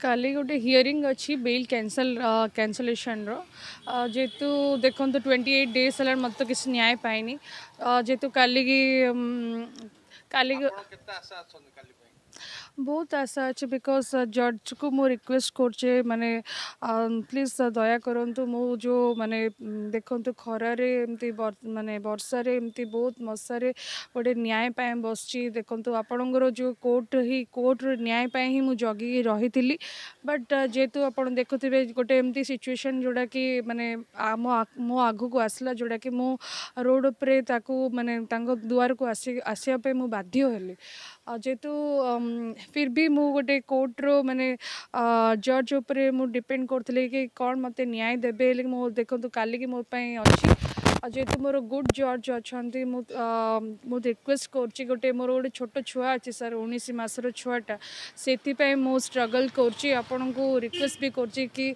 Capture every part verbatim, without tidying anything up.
କାଲି ଗୋଟେ ହିୟରିଂ ଅଛି ବେଲ୍ କ୍ୟାନସଲ୍ କ୍ୟାନସଲେସନ୍ର। ଯେହେତୁ ଦେଖନ୍ତୁ, ଟ୍ୱେଣ୍ଟି ଏଇଟ୍ ଡେଜ୍ ହେଲାଣି, ମୋତେ ତ କିଛି ନ୍ୟାୟ ପାଇନି। ଯେହେତୁ କାଲିକି କାଲି ଆପଣ କେତେ ଆଶା ଅଛନ୍ତି କାଲି ପାଇଁ? ବହୁତ ଆଶା ଅଛି, because ଜଜ୍କୁ ମୁଁ ରିକ୍ୱେଷ୍ଟ କରୁଛି, ମାନେ ପ୍ଲିଜ୍ ଦୟା କରନ୍ତୁ। ମୁଁ ଯେଉଁ ମାନେ ଦେଖନ୍ତୁ, ଖରାରେ ଏମିତି, ମାନେ ବର୍ଷାରେ ଏମିତି, ବହୁତ ମଶାରେ ଗୋଟେ ନ୍ୟାୟ ପାଇଁ ବସିଛି। ଦେଖନ୍ତୁ, ଆପଣଙ୍କର ଯେଉଁ କୋର୍ଟ ହିଁ, କୋର୍ଟର ନ୍ୟାୟ ପାଇଁ ହିଁ ମୁଁ ଜଗିକି ରହିଥିଲି। ବଟ୍ ଯେହେତୁ ଆପଣ ଦେଖୁଥିବେ, ଗୋଟେ ଏମିତି ସିଚୁଏସନ୍ ଯେଉଁଟାକି ମାନେ ଆମ ମୋ ଆଗକୁ ଆସିଲା, ଯେଉଁଟାକି ମୁଁ ରୋଡ଼ ଉପରେ ତାକୁ ମାନେ ତାଙ୍କ ଦୁଆରକୁ ଆସି ଆସିବା ପାଇଁ ମୁଁ ବାଧ୍ୟ ହେଲି। ଆଉ ଯେହେତୁ ଫିର୍ ବି ମୁଁ ଗୋଟେ କୋର୍ଟର ମାନେ ଜଜ୍ ଉପରେ ମୁଁ ଡିପେଣ୍ଡ କରୁଥିଲି କି କ'ଣ ମୋତେ ନ୍ୟାୟ ଦେବେ ହେଲେ ମୁଁ ଦେଖନ୍ତୁ, କାଲିକି ମୋ ପାଇଁ ଅଛି। ଆଉ ଯେହେତୁ ମୋର ଗୁଡ୍ ଜଜ୍ ଅଛନ୍ତି, ମୁଁ ମୁଁ ରିକ୍ୱେଷ୍ଟ କରୁଛି। ଗୋଟେ ମୋର ଗୋଟେ ଛୋଟ ଛୁଆ ଅଛି ସାର୍, ଉଣେଇଶ ମାସର ଛୁଆଟା, ସେଥିପାଇଁ ମୁଁ ଷ୍ଟ୍ରଗଲ୍ କରୁଛି। ଆପଣଙ୍କୁ ରିକ୍ୱେଷ୍ଟ ବି କରୁଛି କି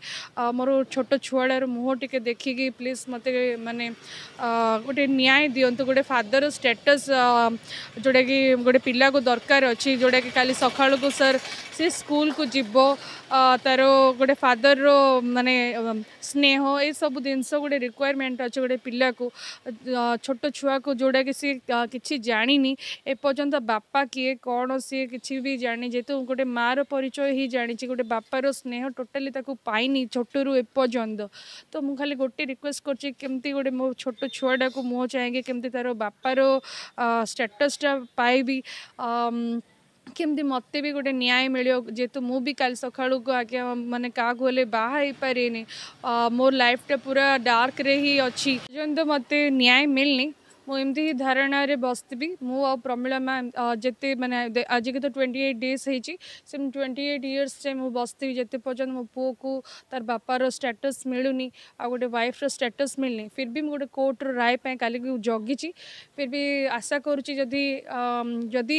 ମୋର ଛୋଟ ଛୁଆଟାର ମୁହଁ ଟିକେ ଦେଖିକି ପ୍ଲିଜ୍ ମୋତେ ମାନେ ଗୋଟେ ନ୍ୟାୟ ଦିଅନ୍ତୁ। ଗୋଟେ ଫାଦର ଷ୍ଟାଟସ୍ ଯେଉଁଟାକି ଗୋଟେ ପିଲାକୁ ଦରକାର ଅଛି, ଯେଉଁଟାକି କାଲି ସକାଳକୁ ସାର୍ ସେ ସ୍କୁଲକୁ ଯିବ, ତାର ଗୋଟେ ଫାଦରର ମାନେ ସ୍ନେହ, ଏସବୁ ଜିନିଷ ଗୋଟେ ରିକ୍ୱାରମେଣ୍ଟ ଅଛି ଗୋଟେ ପିଲାକୁ, ଛୋଟ ଛୁଆକୁ, ଯେଉଁଟାକି ସିଏ କିଛି ଜାଣିନି ଏପର୍ଯ୍ୟନ୍ତ, ବାପା କିଏ କ'ଣ ସିଏ କିଛି ବି ଜାଣିନି। ଯେହେତୁ ଗୋଟେ ମାଆର ପରିଚୟ ହିଁ ଜାଣିଛି, ଗୋଟେ ବାପାର ସ୍ନେହ ଟୋଟାଲି ତାକୁ ପାଇନି ଛୋଟରୁ ଏପର୍ଯ୍ୟନ୍ତ। ତ ମୁଁ ଖାଲି ଗୋଟେ ରିକ୍ୱେଷ୍ଟ କରୁଛି, କେମିତି ଗୋଟେ ମୋ ଛୋଟ ଛୁଆଟାକୁ ମୁହଁ ଚାହିଁକି କେମିତି ତାର ବାପାର ଷ୍ଟାଟସ୍ଟା ପାଇବି, କେମିତି ମୋତେ ବି ଗୋଟେ ନ୍ୟାୟ ମିଳିବ। ଯେହେତୁ ମୁଁ ବି କାଲି ସକାଳୁକୁ ଆଜ୍ଞା ମାନେ କାହାକୁ ହେଲେ ବାହା ହେଇପାରିନି, ମୋ ଲାଇଫ୍ଟା ପୁରା ଡାର୍କରେ ହିଁ ଅଛି। ପର୍ଯ୍ୟନ୍ତ ମୋତେ ନ୍ୟାୟ ମିଳିନି, ମୁଁ ଏମିତି ହିଁ ଧାରଣାରେ ବସିଥିବି। ମୁଁ ଆଉ ପ୍ରମିଳା ମ୍ୟାମ୍ ଯେତେ ମାନେ ଆଜିକି ତ ଟ୍ୱେଣ୍ଟି ଏଇଟ୍ ଡେଜ୍ ହେଇଛି, ସେମିତି ଟ୍ୱେଣ୍ଟି ଏଇଟ୍ ଇୟର୍ସ ଯାଏଁ ମୁଁ ବସିଥିବି, ଯେତେ ପର୍ଯ୍ୟନ୍ତ ମୋ ପୁଅକୁ ତାର ବାପାର ଷ୍ଟାଟସ୍ ମିଳୁନି ଆଉ ଗୋଟେ ୱାଇଫ୍ର ଷ୍ଟାଟସ୍ ମିଳୁନି। ଫିର୍ ବି ମୁଁ ଗୋଟେ କୋର୍ଟର ରାୟ ପାଇଁ କାଲିକୁ ଜଗିଛି। ଫିର୍ ବି ଆଶା କରୁଛି, ଯଦି ଯଦି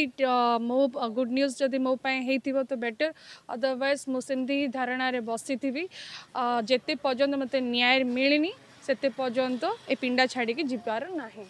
ମୋ ଗୁଡ୍ ନ୍ୟୁଜ୍ ଯଦି ମୋ ପାଇଁ ହେଇଥିବ ତ ବେଟର୍, ଅଦରୱାଇଜ୍ ମୁଁ ସେମିତି ହିଁ ଧାରଣାରେ ବସିଥିବି। ଯେତେ ପର୍ଯ୍ୟନ୍ତ ମୋତେ ନ୍ୟାୟ ମିଳିନି, ସେତେ ପର୍ଯ୍ୟନ୍ତ ଏ ପିଣ୍ଡା ଛାଡ଼ିକି ଯିବାର ନାହିଁ।